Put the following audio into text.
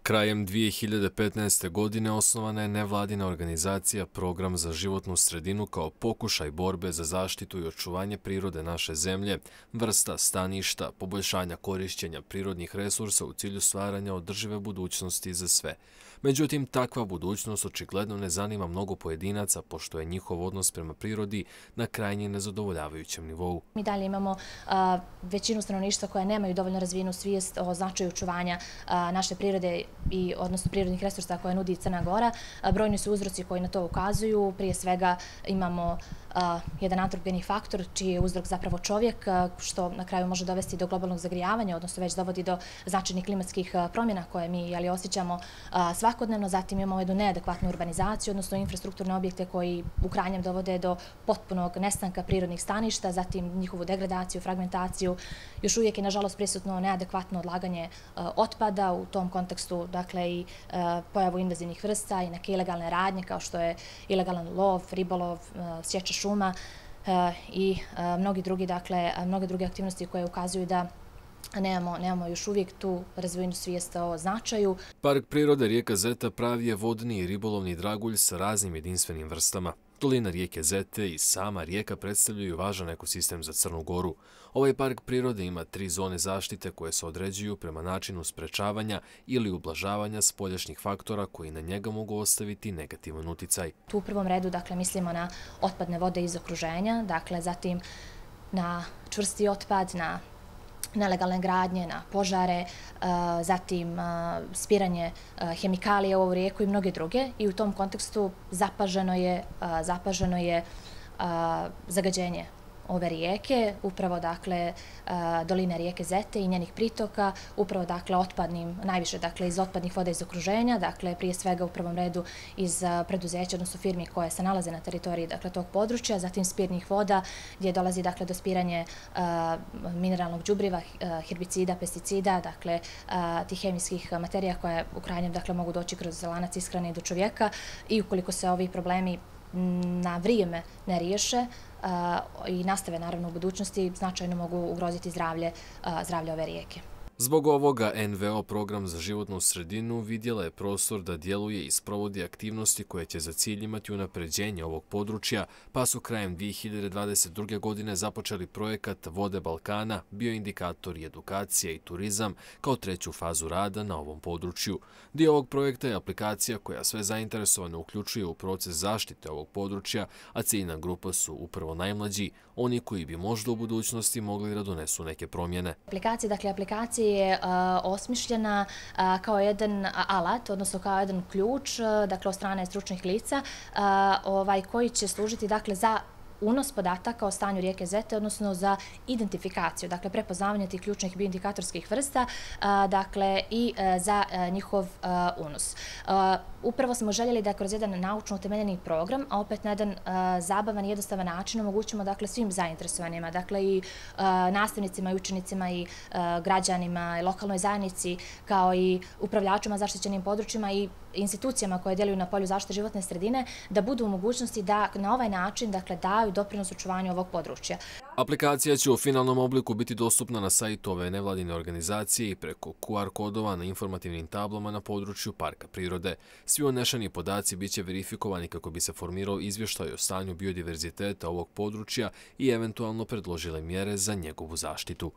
Krajem 2015. godine osnovana je nevladina organizacija Program za životnu sredinu kao pokušaj borbe za zaštitu i očuvanje prirode naše zemlje, vrsta, staništa, poboljšanja korišćenja prirodnih resursa u cilju stvaranja održive budućnosti za sve. Međutim, takva budućnost očigledno ne zanima mnogo pojedinaca, pošto je njihov odnos prema prirodi na krajnje nezadovoljavajućem nivou. Mi dalje imamo većinu stanovništva koja nemaju dovoljno razvijenu svijest o značaju očuvanja naše prirode i odnosno prirodnih resursa koje nudi Crna Gora. Brojni su uzroci koji na to ukazuju. Prije svega imamo jedan antropogeni faktor čiji je uzrok zapravo čovjek, što na kraju može dovesti do globalnog zagrijavanja, odnosno već dovodi do značajnih klimatskih promjena koje mi osjećamo svakodnevno. Zatim imamo jednu neadekvatnu urbanizaciju, odnosno infrastrukturne objekte koji u krajnjem dovode do potpunog nestanka prirodnih staništa, zatim njihovu degradaciju, fragmentaciju. Još uvijek je nažalost prisutno neadekvatno odlaganje otpada, u tom kontekstu dakle i pojavu invazivnih vrsta i neke ilegalne radnje kao što je ilegalan lov, ribolov, sječa šuma i mnoge druge aktivnosti koje ukazuju da nemamo još uvijek tu razvojenu svijest o značaju. Park prirode rijeka Zeta pravi je vodni i ribolovni dragulj sa raznim jedinstvenim vrstama. Dolina rijeke Zete i sama rijeka predstavljaju važan ekosistem za Crnu Goru. Ovaj park prirode ima 3 zone zaštite koje se određuju prema načinu sprečavanja ili ublažavanja spoljašnjih faktora koji na njega mogu ostaviti negativan uticaj. Tu u prvom redu mislimo na otpadne vode iz okruženja, zatim na čvrsti otpad, na nelegalne gradnje, na požare, zatim spiranje hemikalija u ovu rijeku i mnoge druge. I u tom kontekstu zapaženo je zagađenje ove rijeke, upravo doline rijeke Zete i njenih pritoka, upravo najviše iz otpadnih voda iz okruženja, prije svega u prvom redu iz preduzeća, odnosno firmi koje se nalaze na teritoriji tog područja, zatim spirnih voda gdje dolazi do spiranja mineralnog đubriva, herbicida, pesticida, tih hemijskih materija koje u krajnjem mogu doći kroz lanac ishrane do čovjeka i ukoliko se ovi problemi na vrijeme ne riješe i nastave naravno u budućnosti, značajno mogu ugroziti zdravlje ove rijeke. Zbog ovoga NVO Program za životnu sredinu vidjela je prostor da djeluje i sprovodi aktivnosti koje će za cilj imati unapređenje ovog područja, pa su krajem 2022. godine započeli projekat Vode Balkana, bioindikatori, edukacija i turizam kao 3. fazu rada na ovom području. Dio ovog projekta je aplikacija koja sve zainteresovane uključuje u proces zaštite ovog područja, a ciljna grupa su upravo najmlađi, oni koji bi možda u budućnosti mogli da donesu neke promjene. Aplikacija je osmišljena kao jedan alat, odnosno kao jedan ključ, od strane stručnih lica, koji će služiti za unos podataka o stanju rijeke Zete, odnosno za identifikaciju, prepoznavanje tih ključnih bioindikatorskih vrsta, i za njihov unos. Upravo smo željeli da kroz jedan naučno utemeljeni program, a opet na jedan zabavan i jednostavan način omogućimo svim zainteresovanima, i nastavnicima i učenicima i građanima i lokalnoj zajednici, kao i upravljačima zaštićenim područjima i institucijama koje djeluju na polju zaštite životne sredine, da budu u mogućnosti da na ovaj način daju doprinos očuvanju ovog područja. Aplikacija će u finalnom obliku biti dostupna na sajtu ove nevladine organizacije i preko QR kodova na informativnim tablama na području parka prirode. Svi unešeni podaci biće verifikovani kako bi se formirao izvještaj o stanju biodiverziteta ovog područja i eventualno predložile mjere za njegovu zaštitu.